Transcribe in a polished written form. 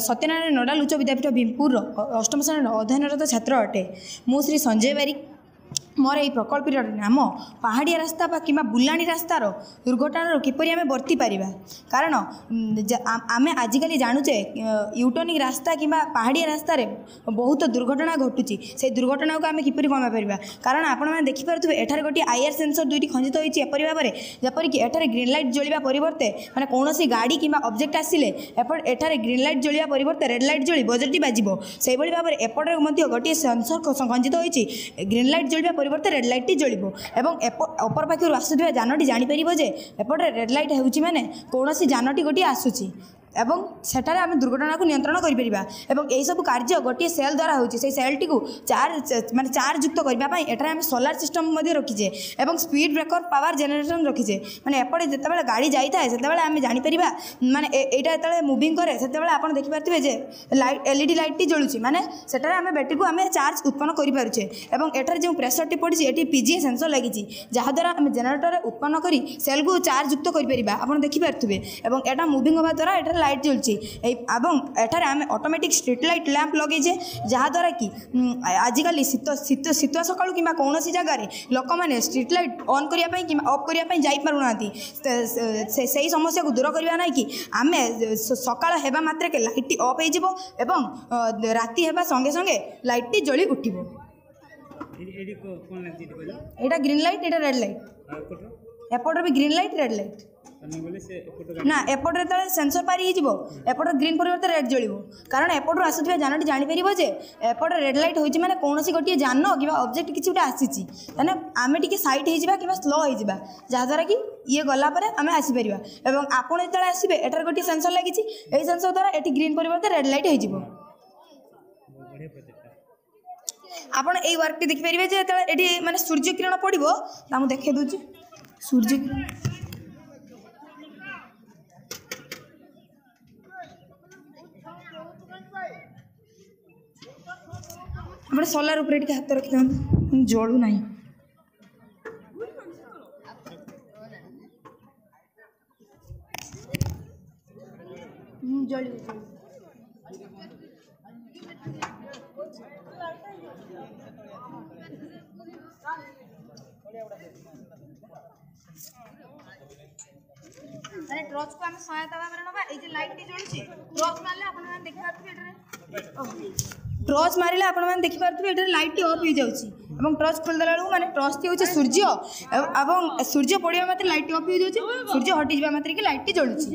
Satyanarayan nodal ଉଚ୍ଚ ବିଦ୍ୟାପୀଠ ଭୀମପୁରର ଅଷ୍ଟମ ଶ୍ରେଣୀର ଅଧ୍ୟୟନରତ ଛାତ୍ର ଅଟେ। ମୁଁ ଶ୍ରୀ ସଞ୍ଜୟ ବାରିକ। ମୋର ଏହି ପ୍ରକଳ୍ପଟିର ନାମ ପାହାଡ଼ିଆ ରାସ୍ତା ବା କିମ୍ବା ବୁଲାଣି ରାସ୍ତାର ଦୁର୍ଘଟଣାରୁ କିପରି ଆମେ ବର୍ତ୍ତି ପାରିବା। କାରଣ ଆମେ ଆଜିକାଲି ଜାଣୁଛେ ୟୁଟର୍ଣ୍ଣିଂ ରାସ୍ତା କିମ୍ବା ପାହାଡ଼ିଆ ରାସ୍ତାରେ ବହୁତ ଦୁର୍ଘଟଣା ଘଟୁଛି। ସେଇ ଦୁର୍ଘଟଣାକୁ ଆମେ କିପରି କମାଇ ପାରିବା? କାରଣ ଆପଣମାନେ ଦେଖିପାରୁଥିବେ, ଏଠାରେ ଗୋଟିଏ ଆଇଆର୍ ସେନ୍ସର ଦୁଇଟି ଖଞ୍ଜିତ ହୋଇଛି ଏପରି ଭାବରେ ଯେପରିକି ଏଠାରେ ଗ୍ରୀନ୍ ଲାଇଟ୍ ଜଳିବା ପରିବର୍ତ୍ତେ, ମାନେ କୌଣସି ଗାଡ଼ି କିମ୍ବା ଅବଜେକ୍ଟ ଆସିଲେ ଏପଟ ଏଠାରେ ଗ୍ରୀନ୍ ଲାଇଟ୍ ଜଳିବା ପରିବର୍ତ୍ତେ ରେଡ଼୍ ଲାଇଟ୍ ଜଳି ବଜରଟି ବାଜିବ। ସେଇଭଳି ଭାବରେ ଏପଟରେ ମଧ୍ୟ ଗୋଟିଏ ସେନ୍ସର ଖଞ୍ଜିତ ହୋଇଛି, ଗ୍ରୀନ୍ ଲାଇଟ୍ ଜଳିବା ପରିବର୍ତ୍ତେ ରେଡ଼୍ ଲାଇଟ୍ଟି ଜଳିବ ଏବଂ ଅପର ପାଖରୁ ଆସୁଥିବା ଯାନଟି ଜାଣିପାରିବ ଯେ ଏପଟରେ ରେଡ଼୍ ଲାଇଟ୍ ହେଉଛି, ମାନେ କୌଣସି ଯାନଟି ଗୋଟିଏ ଆସୁଛି ଏବଂ ସେଠାରେ ଆମେ ଦୁର୍ଘଟଣାକୁ ନିୟନ୍ତ୍ରଣ କରିପାରିବା। ଏବଂ ଏହିସବୁ କାର୍ଯ୍ୟ ଗୋଟିଏ ସେଲ୍ ଦ୍ୱାରା ହେଉଛି। ସେଇ ସେଲ୍ଟିକୁ ଚାର୍ଜ, ମାନେ ଚାର୍ଜ ଯୁକ୍ତ କରିବା ପାଇଁ ଏଠାରେ ଆମେ ସୋଲାର ସିଷ୍ଟମ୍ ମଧ୍ୟ ରଖିଛେ ଏବଂ ସ୍ପିଡ଼ ବ୍ରେକର ପାୱାର ଜେନେରେସନ୍ ରଖିଛେ। ମାନେ ଏପଟେ ଯେତେବେଳେ ଗାଡ଼ି ଯାଇଥାଏ ସେତେବେଳେ ଆମେ ଜାଣିପାରିବା, ମାନେ ଏଇଟା ଯେତେବେଳେ ମୁଭିଂ କରେ ସେତେବେଳେ ଆପଣ ଦେଖିପାରୁଥିବେ ଯେ ଲାଇଟ୍, ଏଲ୍ଇଡି ଲାଇଟ୍ଟି ଜଳୁଛି, ମାନେ ସେଠାରେ ଆମେ ବ୍ୟାଟେରୀକୁ ଆମେ ଚାର୍ଜ ଉତ୍ପନ୍ନ କରିପାରୁଛେ। ଏବଂ ଏଠାରେ ଯେଉଁ ପ୍ରେସରଟି ପଡ଼ିଛି, ଏଠି ପିଜିଏ ସେନ୍ସର ଲାଗିଛି, ଯାହାଦ୍ୱାରା ଆମେ ଜେନେରେଟରରେ ଉତ୍ପନ୍ନ କରି ସେଲ୍କୁ ଚାର୍ଜ ଯୁକ୍ତ କରିପାରିବା, ଆପଣ ଦେଖିପାରୁଥିବେ। ଏବଂ ଏଇଟା ମୁଭିଂ ହେବା ଦ୍ୱାରା ଏଠାରେ ଲାଇଟ୍ ଜଳୁଛି ଏଇ। ଏବଂ ଏଠାରେ ଆମେ ଅଟୋମେଟିକ୍ ଷ୍ଟ୍ରିଟ୍ ଲାଇଟ୍ ଲ୍ୟାମ୍ପ ଲଗେଇଛେ, ଯାହାଦ୍ୱାରା କି ଆଜିକାଲି ଶୀତ ଶୀତ ଶୀତୁଆ ସକାଳୁ କିମ୍ବା କୌଣସି ଜାଗାରେ ଲୋକମାନେ ଷ୍ଟ୍ରିଟ୍ ଲାଇଟ୍ ଅନ୍ କରିବା ପାଇଁ କିମ୍ବା ଅଫ୍ କରିବା ପାଇଁ ଯାଇପାରୁନାହାନ୍ତି। ସେଇ ସମସ୍ୟାକୁ ଦୂର କରିବା ନାହିଁ କି ଆମେ ସକାଳ ହେବା ମାତ୍ରକେ ଲାଇଟ୍ଟି ଅଫ୍ ହେଇଯିବ ଏବଂ ରାତି ହେବା ସଙ୍ଗେ ସଙ୍ଗେ ଲାଇଟ୍ଟି ଜଳି ଉଠିବ। ଏଇଟା ଗ୍ରୀନ୍ ଲାଇଟ୍, ଏଇଟା ରେଡ଼୍ ଲାଇଟ୍। ଏପଟରେ ବି ଗ୍ରୀନ୍ ଲାଇଟ୍, ରେଡ଼୍ ଲାଇଟ୍। ନା, ଏପଟରେ ଯେତେବେଳେ ସେନ୍ସର ପାରି ହେଇଯିବ ଏପଟରେ ଗ୍ରୀନ୍ ପରିବର୍ତ୍ତେ ରେଡ଼୍ ଜଳିବ, କାରଣ ଏପଟରୁ ଆସୁଥିବା ଯାନଟି ଜାଣିପାରିବ ଯେ ଏପଟେ ରେଡ଼୍ ଲାଇଟ୍ ହୋଇଛି, ମାନେ କୌଣସି ଗୋଟିଏ ଯାନ କିମ୍ବା ଅବଜେକ୍ଟ କିଛି ଗୋଟେ ଆସିଛି, ତାହେଲେ ଆମେ ଟିକେ ସାଇଡ଼୍ ହେଇଯିବା କିମ୍ବା ସ୍ଲୋ ହେଇଯିବା, ଯାହାଦ୍ୱାରା କି ଇଏ ଗଲା ପରେ ଆମେ ଆସିପାରିବା। ଏବଂ ଆପଣ ଯେତେବେଳେ ଆସିବେ, ଏଠାରେ ଗୋଟିଏ ସେନ୍ସର ଲାଗିଛି। ଏହି ସେନ୍ସର ଦ୍ୱାରା ଏଠି ଗ୍ରୀନ୍ ପରିବର୍ତ୍ତେ ରେଡ଼୍ ଲାଇଟ୍ ହେଇଯିବ। ଆପଣ ଏଇ ୱାର୍କଟି ଦେଖିପାରିବେ ଯେ ଯେତେବେଳେ ଏଠି ମାନେ ସୂର୍ଯ୍ୟ କିରଣ ପଡ଼ିବ, ତା ମୁଁ ଦେଖାଇ ଦେଉଛି। ସୂର୍ଯ୍ୟ କିରଣ, ଆପଣ ସୋଲାର ଉପରେ ଟିକେ ହାତ ରଖିଥାନ୍ତୁ, ଜଳୁ ନାହିଁ। ଜଳିବ, ଜଳିବ। ମାନେ ଟର୍ଚ୍ଚକୁ ଆମେ ସହାୟତା ଭାବରେ ନେବା। ଏଇ ଯେ ଲାଇଟ୍ଟି ଜଳୁଛି, ଟର୍ଚ୍ଚ ମାରିଲେ ଆପଣମାନେ ଦେଖିପାରୁଥିବେ, ଏଠାରେ ଟର୍ଚ୍ଚ ମାରିଲେ ଆପଣମାନେ ଦେଖିପାରୁଥିବେ ଏଠାରେ ଲାଇଟ୍ଟି ଅଫ୍ ହେଇଯାଉଛି ଏବଂ ଟର୍ଚ୍ଚ ଖୋଲିଦେଲା ବେଳକୁ, ମାନେ ଟର୍ଚ୍ଚଟି ହେଉଛି ସୂର୍ଯ୍ୟ ଏବଂ ସୂର୍ଯ୍ୟ ପଡ଼ିବା ମାତ୍ରେ ଲାଇଟ୍ଟି ଅଫ୍ ହେଇଯାଉଛି, ସୂର୍ଯ୍ୟ ହଟିଯିବା ମାତ୍ରକେ ଲାଇଟ୍ଟି ଜଳୁଛି।